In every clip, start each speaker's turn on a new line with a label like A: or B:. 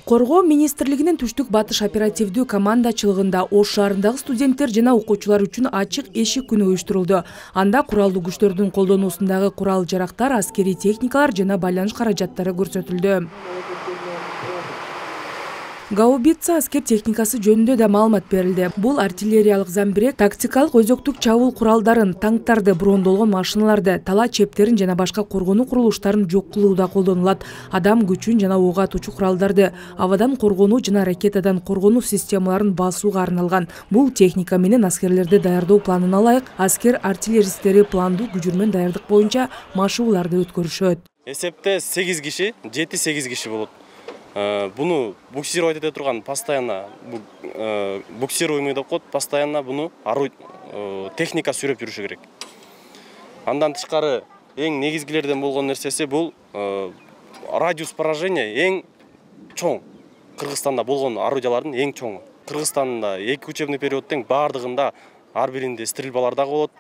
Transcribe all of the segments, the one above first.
A: Коргоо министрлигинин түштүк батыш оперативдүү командачылыгында Ош шаарындагы студенттер жана окуучулар үчүн ачык эшик күнү уюштурулду. Анда куралдуу күчтөрдүн колдонуусундагы курал-жарактар, аскерий техникалар жана байланыш каражаттары көрсөтүлдү. Гаубица аскер техникасы жөнүндө да маалымат берилди. Бул артиллериялык замбирек, тактикалык өзөктүк чабуул куралдарын, танктарды, брондолгон машиналарды, тала чептерин жана башка коргонуу курулуштарын жок кылууда колдонулат. Адам күчүн жана ок атуучу куралдарды, абадан коргонуу жана ракетадан коргонуу системаларын басууга арналган. Бул техника менен аскерлерди даярдоо планына ылайык аскер артиллеристтери пландуу күжүрмөн даярдык боюнча машыгууларды өткөрүшөт.
B: Эсепте 8 киши, 7-8 киши болот. Буну буксировать эте турган постоянно буксируемый деп коет, постоянно буну техника сүрөп жүрүшү керек. Андан тышкары эң негизгилерден болгон нерсеси бул радиус поражения эң чоң. Кыргызстанда болгон орудиялардын эң чоңу. Кыргызстанда 2 учебный периодтун бардыгында ар биринде стрельбалар дагы болот.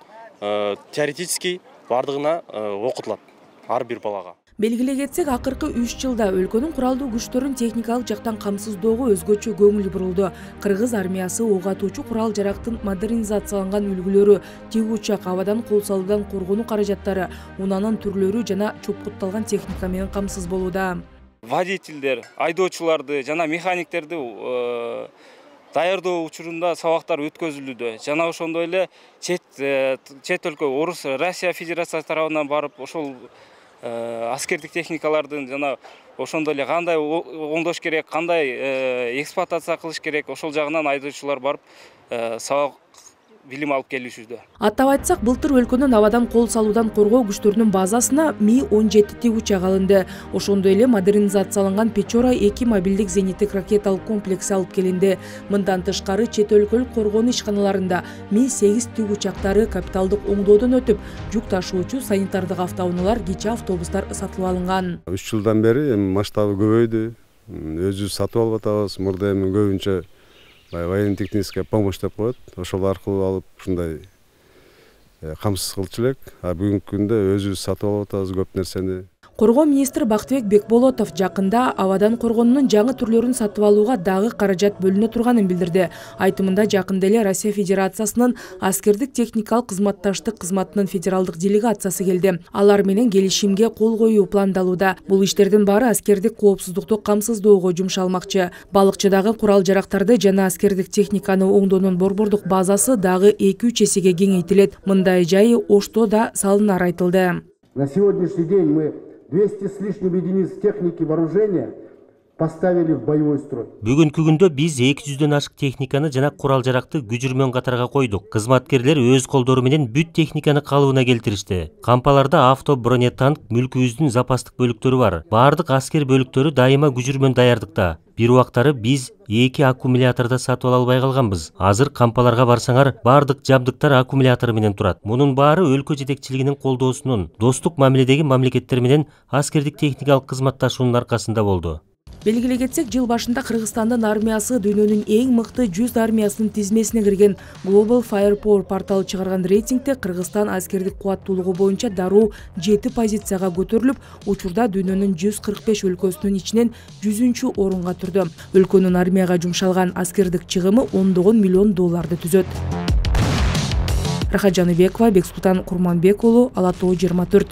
B: Теоретически бардыгына окутулат ар бир балага.
A: Белгилей кетсек, акыркы 3 жылда өлкөнүн куралдуу күчтөрүн техникалык жактан камсыздоого өзгөчө көңүл бурулду. Кыргыз армиясы ок атуучу курал-жарактын модернизацияланган үлгүлөрү, тик учак, абадан кол салуудан коргонуу каражаттары, унаанын түрлөрү жана чопкутталган техника менен камсыз болууда.
C: Водительдер, айдоочуларды жана механиктерди даярдоо учурунда сабактар өткөзүлүүдө. Жана ошондой эле чет өлкө, Орус, Россия Федерациясы тарабынан барып ошол аскердик техникалардын жана ошондой эле кандай оңдош керек, кандай эксплуатация кылыш керек, ошол жагынан айдоочулар барып сабак билим алып келишүүдө.
A: Аттап айтсак, былтыр өлкөнүн абадан кол салуудан коргоо күчтөрүнүн базасына Ми-17 тик учак алынды. Ошондой эле модернизацияланган Печора 2 мобилдик зениттик ракеталык комплекси алып келинди. Мындан тышкары чет өлкөлүк коргонуу ишканаларында Ми-8 тик учактары капиталдык оңдоодон өтүп, жүк ташуучу санитардык автоунаалар, кичи автобустар сатылып алынган.
D: 3 жылдан бери масштабы көбөйдү. Өзүбүз сатып алып атабыз. Мурда эми көбүнчө военно-техническая помощь деп коет. Ошол аркылуу алып ушундай камсыз кылчу элек. Бүгүнкү күндө өзүбүз сатып алып атабыз көп нерсени.
A: Коргоо министри Бактыбек Бекболотов жакында абадан коргоонун жаңы түрлөрүн сатып алууга дагы каражат бөлүнө турганын билдирди. Айтымында жакында эле Россия Федерациясынын аскердик техникалык кызматташтык кызматынын федералдык делегациясы келди. Алар менен келишимге кол коюу пландалууда. Бул иштердин баары аскердик коопсуздукту камсыздоого жумшалмакчы. Балыкчыдагы курал-жарактарды жана аскердик техниканы оңдоонун борбордук базасы дагы 2-3 эсеге кеңейтилет. Мындай жайы Ошто да салынары айтылды.
E: На сегодняшний день мы 200 с лишним единиц техники вооружения поставили в боевой строй.
F: Бүгүнкү күндө биз 200дөн ашык техниканы жана курал-жаракты күжүрмөн катарга койдук. Кызматкерлер өз колдору менен бүт техниканы калыбына келтиришти. Кампаларда авто, бронетанк, мүлкүбүздүн запастык бөлүктөрү бар. Бардык аскер бөлүктөрү дайыма күжүрмөн даярдыкта. Бир убактары биз 2 аккумуляторду сатып ала албай калганбыз. Азыр кампаларга барсаңар, бардык жабдыктар аккумулятор менен турат. Мунун баары өлкө жетекчилигинин колдоосунун, достук мамиледеги мамлекеттер менен аскердик техникалык кызматташуунун аркасында болду.
A: Белгилей кетсек, жыл башында Кыргызстандын армиясы дүйнөнүн эң мыкты 100 армиясынын тизмесине кирген. Global Firepower порталы чыгарган рейтингде Кыргызстан аскердик кубаттуулугу боюнча дароо 7 позицияга көтөрүлүп, учурда дүйнөнүн 145 өлкөсүнүн ичинен 100-орунга турду. Өлкөнүн армияга жумшалган аскердик чыгымы $10 миллион түзөт. Рахат Жаныбекова, Бексултан Курманбек уулу, Ала Тоо 24.